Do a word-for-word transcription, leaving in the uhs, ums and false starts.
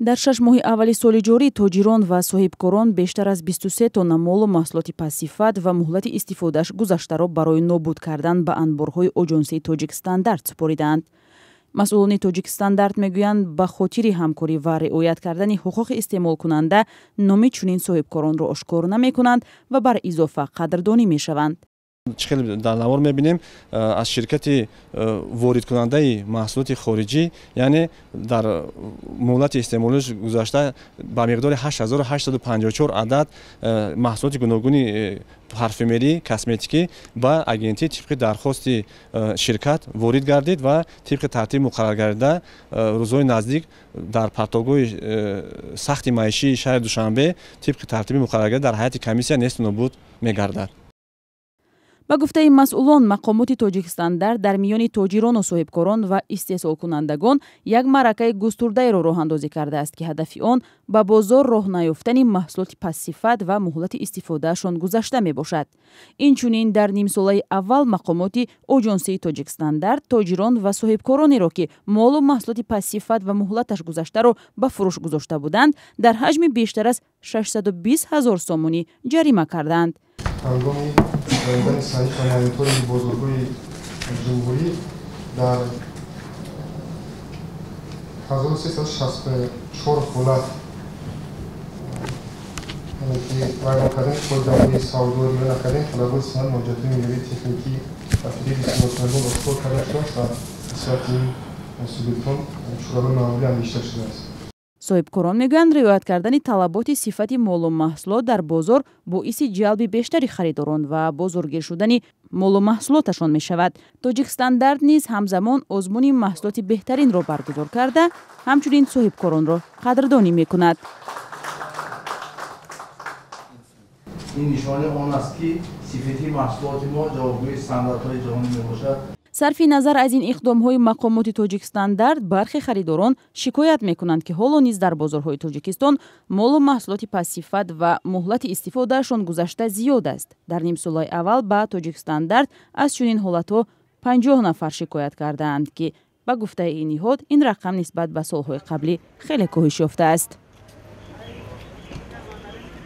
Дар шаш моҳи аввали соли ҷорӣ тоҷирон ва соҳибкорон бештар аз бисту се тонна молу маҳсулоти пастсифат ва муҳлати истифодааш гузаштаро барои нобуд кардан ба анборҳои оҷонсии Тоҷикстандарт супоридаанд. Масъулони Тоҷикстандарт мегӯянд, ба хотири ҳамкорӣ ва риоят кардани ҳуқуқи истеъмолкунанда номи чунин соҳибкоронро ошкор намекунанд ва бар изофа қадрдонӣ мешаванд. Чӣ хеле дар навор мебинем, аз ширкати воридкунандаи маҳсулоти хориҷӣ, яъне дар муҳлати истеъмолиш гузашта ба миқдори ҳашт ҳазору ҳаштсаду панҷоҳу чор адад маҳсулоти гуногуни парфюмерӣ, косметикӣ ба агентӣ тибқи дархости ширкат ворид гардид ва тибқи тартиби муқарраргардида рӯзҳои наздик дар партовгоҳи сахти маишии шаҳри Душанбе тибқи тартиби муқарраргардида дар ҳайати комиссия несту нобуд мегардад. Ба гуфтаи масъулон, мақомоти Тоҷикстандарт дар миёни тоҷирону соҳибкорон ва истеҳсолкунандагон як маъракаи густурдаеро роҳандозӣ кардааст, ки ҳадафи он ба бозор роҳ наёфтани маҳсулоти пастсифат ва муҳлати истифодаашон гузашта мебошад. Инчунин дар нимсолаи аввал мақомоти оҷонсии Тоҷикстандарт тоҷирон ва соҳибкоронеро, ки молу маҳсулоти пастсифат ва муҳлаташ гузаштаро ба фурӯш гузошта буданд, дар ҳаҷми бештар аз шашсаду бист ҳазор сомонӣ ҷарима карданд. Ҳангоми гузаронидани санҷиш ва мониторинги бозорҳои ҷумҳурӣ дар ҳазору сесаду шасту чор ҳолат вайрон кардани қоидаҳои савдо, риоя накардани талаботи санад, муроҷиатҳои меъёрии техникӣ ва фиреби истеъмолкунандагон ошкор карда шудааст ва нисбати ин субъектон чораҳои маъмулӣ андешида шудааст. Соҳибкорон мегӯянд, риоят кардани талаботи сифати молу маҳсулот дар бозор боиси ҷалби бештари харидорон ва бозоргир шудани молу маҳсулоташон мешавад. Тоҷикстандарт низ ҳамзамон озмуни маҳсулоти беҳтаринро баргузор карда, ҳамчунин соҳибкоронро қадрдонӣ мекунад. Ин нишонаи он аст, ки сифати маҳсулоти мо ҷавобгӯи стандартҳои ҷаҳонӣ мебошад. Сарфи назар аз ин иқдомҳои мақомоти Тоҷикстандарт, бархе харидорон шикоят мекунанд, ки ҳоло низ дар бозорҳои Тоҷикистон молу маҳсулоти пастсифат ва муҳлати истифодаашон гузашта зиёд аст. Дар нимсолаи аввал ба Тоҷикстандарт аз чунин ҳолатҳо панҷоҳ нафар шикоят кардаанд, ки ба гуфтаи ин ниҳод ин рақам нисбат ба солҳои қаблӣ хеле коҳиш ёфтааст.